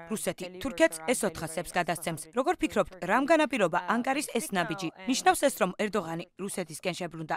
რუსეთი თურქეთს ეს 400-ებს გადასცემს. როგორ ფიქრობთ, რამ განაპირობა ანკარის ეს ნაბიჯი? ნიშნავს ეს, რომ ერდოღანი რუსეთისკენ შებრუნდა?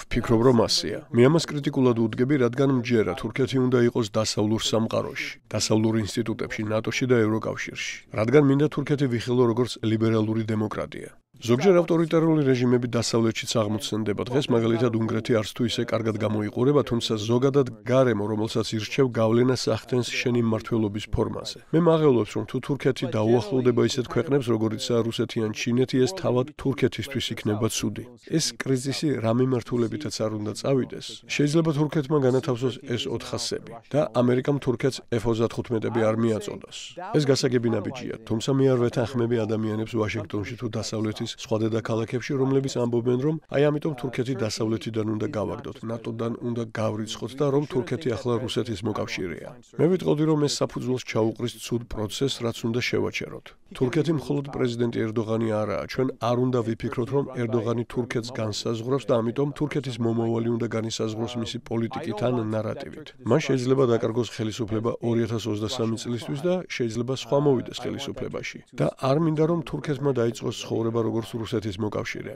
ვფიქრობ, რომ ასეა. მე ამას კრიტიკულად უდგები, რადგან მჯერა თურქეთი უნდა იყოს დასავლურ სამყაროში, დასავლურ ინსტიტუტებში, ნატოში და ევროკავშირში. რადგან მინდა თურქეთი ვიხილო როგორც ლიბერალური დემოკრატია. ზოგჯერ ავტორიტარული რეჟიმები დასავლეთშიც აღმოცენდება. დღეს მაგალითად უნგრეთი არც თუ ისე კარგად გამოიყურება, თუმცა ზოგადად გარემო, რომელსაც ირჩევ, გავლენას ახდენს შენი მმართველობის ფორმაზე. მე მაღელვებს, რომ თუ თურქეთი დაუახლოვდება ისეთ ქვეყნებს, როგორიცაა რუსეთი ან ჩინეთი, ეს თავად თურქეთისთვის იქნება ცუდი. ეს კრიზისი რა მიმართულებითაც არ უნდა წავიდეს. შეიძლება თურქეთმა განათავსოს ეს 400-ები და ამერიკამ თურქეთს F-35-ები არ მიაწოდოს. ეს გასაგები ნაბიჯია, თუმცა მე არ ვეთანხმები ადამიანებს ვაშინგტონში თუ დასავლეთის სხვა დედაქალაქებში, რომლებიც ამბობენ, რომ აი ამიტომ თურქეთი დასავლეთიდან უნდა გავაგდოთ, ნატოდან უნდა გავრიცხოთ და რომ თურქეთი ახლა რუსეთის მოკავშირეა. მე ვიტყოდი, რომ ეს საფუძველს ჩაუყრის ცუდ პროცესს, რაც უნდა შევაჩეროთ. თურქეთი მხოლოდ პრეზიდენტი ერდოღანი არაა, ჩვენ არ უნდა ვიფიქროთ, რომ ერდოღანი თურქეთს განსაზღვრავს და ამიტომ თურქეთის მომავალი უნდა განისაზღვროს მისი პოლიტიკით ან ნარატივით. მან შეიძლება დაკარგოს ხელისუფლება 2023 წლისთვის და შეიძლება სხვა მოვიდეს ხელისუფლებაში. და არ მინდა, რომ თურქეთმა დაიწყოს ცხოვრება როგორც რუსეთის მოკავშირე.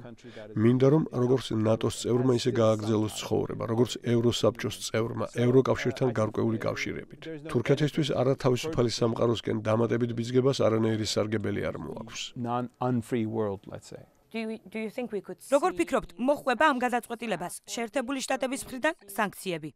მინდა, რომ როგორც ნატოს წევრმა ისე გააგრძელოს ცხოვრება, როგორც ევროსაბჭოს წევრმა, ევროკავშირთან გარკვეული კავშირებით. თურქეთისთვის არა თავისუფალი სამყაროსკენ დამატებით ბიძგებას არანაირი სარგებელი არ მოაქვს. როგორ ფიქრობთ, მოხვება ამ გადაწყვეტილებას შეერთებული შტატების მხრიდან სანქციები?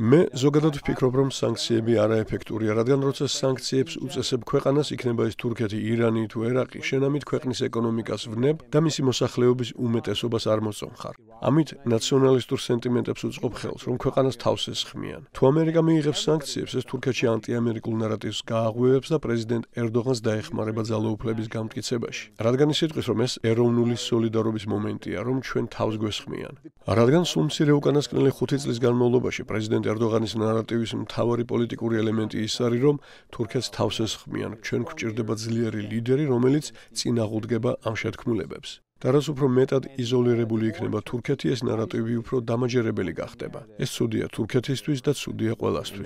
მე ზოგადად ვფიქრობ, რომ სანქციები არაეფექტურია, რადგან როცა სანქციებს უწესებ ქვეყანას, იქნება ეს თურქეთი, ირანი თუ ერაყი, შენ ამით ქვეყნის ეკონომიკას ვნებ და მისი მოსახლეობის უმეტესობას არ მოწონხარ. ამით ნაციონალისტურ სენტიმენტებს უწყობ ხელს, რომ ქვეყანას თავს ესხმიან. თუ ამერიკა მიიღებს სანქციებს, ეს თურქეთში ანტიამერიკულ ნარატივს გააღვივებს და პრეზიდენტ ერდოღანს დაეხმარება ძალაუფლების გამტკიცებაში. რადგან ის იტყვის, რომ ეს ეროვნული სოლიდარობის მომენტია, რომ ჩვენ თავს გვესხმიან. რადგან სულ მცირე უკანასკნელი 5 წლის განმავლობაში პრეზიდენტ ერდოღანის ნარატივის მთავარი პოლიტიკური ელემენტი ის არის, რომ თურქეთს თავს ესხმიან. ჩვენ გვჭირდება ძლიერი ლიდერი, რომელიც წინ აღუდგება ამ შეთქმულებებს. და რაც უფრო მეტად იზოლირებული იქნება თურქეთი, ეს ნარატივი უფრო დამაჯერებელი გახდება. ეს ცუდია თურქეთისთვის და ცუდია ყველასთვის.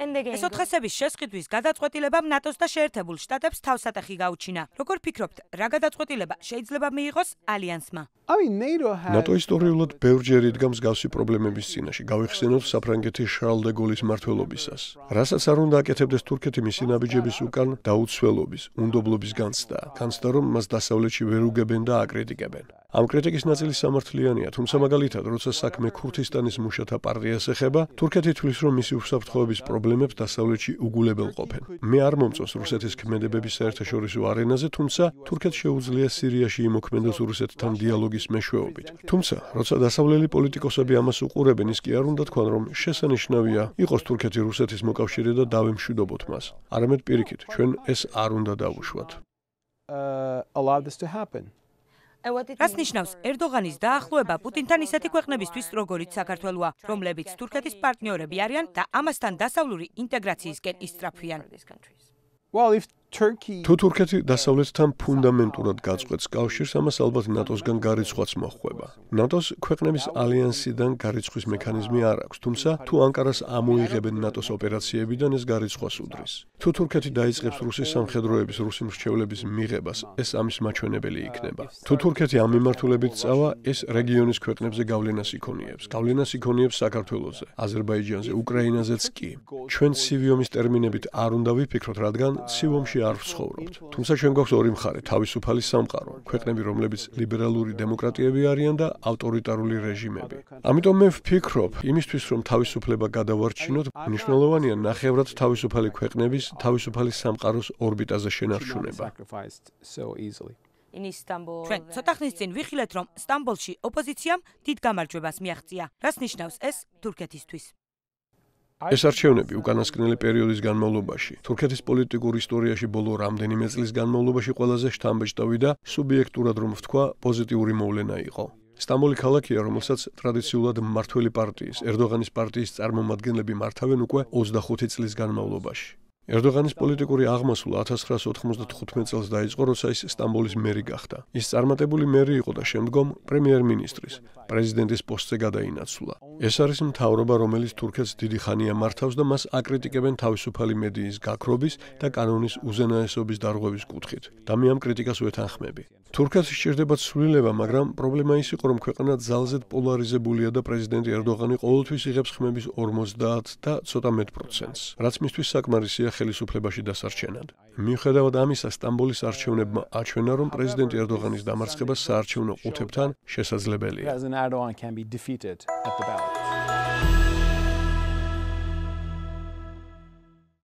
ეს 400-ების შესყიდვის გადაწყვეტილებამ ნატოს და შეერთებულ შტატებს თავსატეხი გაუჩინა. როგორ ფიქრობთ, რა გადაწყვეტილება შეიძლება მიიღოს ალიანსმა? ნატო ისტორიულად ბევრჯერ იდგა მსგავსი პრობლემების წინაშე. გავიხსენოთ საფრანგეთის შარლ დე გოლის მმართველობისას. რასაც არ უნდა აკეთებდეს თურქეთი მისი ნაბიჯების უკან დაუცველობის, უნდობლობის განცდაა. განცდა, რომ მას დასავლეთში ვერ უგებენ და აკრიტიკებენ. ამ კრიტიკის ნაწილი სამართლიანია, თუმცა მაგალითად, როცა საქმე ქურთისტანის მუშათა პარტიას ეხება, თურქეთი თვლის, რომ მისი უსაფრთხოების პრობლემებს დასავლეთში უგულებელ ყოფენ. მე არ მომწონს რუსეთის ქმედებების საერთაშორისო არენაზე, თუმცა თურქეთს შეუძლია სირიაში იმოქმედოს რუსეთთან დიალოგის მეშვეობით. თუმცა, როცა დასავლელი პოლიტიკოსები ამას უყურებენ, ის კი არ უნდა თქვან, რომ შესანიშნავია იყოს თურქეთი რუსეთის მოკავშირე და დავემშვიდობოთ მას. არამედ პირიქით, ჩვენ ეს არ უნდა დავუშვათ. რას ნიშნავს ერდოღანის დაახლოება პუტინთან ისეთი ქვეყნებისთვის, როგორიც საქართველოა, რომლებიც თურქეთის პარტნიორები არიან და ამასთან დასავლური ინტეგრაციისკენ ისწრაფვიან? თუ თურქეთი დასავლეთთან ფუნდამენტურად გაწყვეტს კავშირს, ამას ალბათ ნატოსგან გარიცხვაც მოჰყვება. ნატოს ქვეყნების ალიანსიდან გარიცხვის მექანიზმი არ აქვს, თუმცა თუ ანკარას ამოიღებენ ნატოს ოპერაციებიდან, ეს გარიცხვას უდრის. თუ თურქეთი დაიწყებს რუსის სამხედროების, რუსი მრჩევლების მიღებას, ეს ამის მაჩვენებელი იქნება. თუ თურქეთი ამ მიმართულებით წავა, ეს რეგიონის ქვეყნებზე გავლენას იქონიებს. გავლენას იქონიებს საქართველოზე, აზერბაიჯანზე, უკრაინაზეც კი. ჩვენ ცივი ომის ტერმინებით არ უნდა ვიფიქროთ, რადგან ცივ ომში არ ვცხოვრობთ. თუმცა ჩვენ გვაქვს ორი მხარე, თავისუფალი სამყარო, ქვეყნები, რომლებიც ლიბერალური დემოკრატიები არიან და ავტორიტარული რეჟიმები. ამიტომ მე ვფიქრობ, იმისთვის რომ თავისუფლება გადავარჩინოთ, მნიშვნელოვანია ნახევრად თავისუფალი ქვეყნების, თავისუფალი სამყაროს ორბიტაზე შენარჩუნება. ჩვენ ცოტა ხნის წინ ვიხილეთ, რომ სტამბოლში ოპოზიციამ დიდ გამარჯვებას მიაღწია. რას ნიშნავს ეს თურქეთისთვის? ეს არჩევნები უკანასკნელი პერიოდის განმავლობაში, თურქეთის პოლიტიკურ ისტორიაში ბოლო რამდენიმე წლის განმავლობაში ყველაზე შთამბეჭდავი და სუბიექტურად რომ ვთქვა, პოზიტიური მოვლენა იყო. სტამბოლი ქალაქია, რომელსაც ტრადიციულად მმართველი პარტიის, ერდოღანის პარტიის წარმომადგენლები მართავენ უკვე 25 წლის განმავლობაში. ერდოღანის პოლიტიკური აღმასვლა 1995 წელს დაიწყო, როცა ის სტამბოლის მერი გახდა. ის წარმატებული მერი იყო და შემდგომ პრემიერ-მინისტრის, პრეზიდენტის პოსტზე გადაინაცვლა. ეს არის მთავრობა, რომელიც თურქეთს დიდი ხანია მართავს და მას აკრიტიკებენ თავისუფალი მედიის გაქრობის და კანონის უზენაესობის დარღვევის კუთხით. და მე ამ კრიტიკას ვეთანხმები. თურქეთს სჭირდება ცვლილება, მაგრამ პრობლემა ის იყო, რომ ქვეყანა ძალზედ პოლარიზებულია და პრეზიდენტი ერდოღანი ყოველთვის იღებს ხმების 50 და ცოტა მეტ პროცენტს, რაც მისთვის საკმარისია ხელისუფლებაში დასარჩენად. მიუხედავად ამისა, სტამბოლის არჩევნებმა აჩვენა, რომ პრეზიდენტ ერდოღანის დამარცხება საარჩევნო ყუთებთან შესაძლებელია.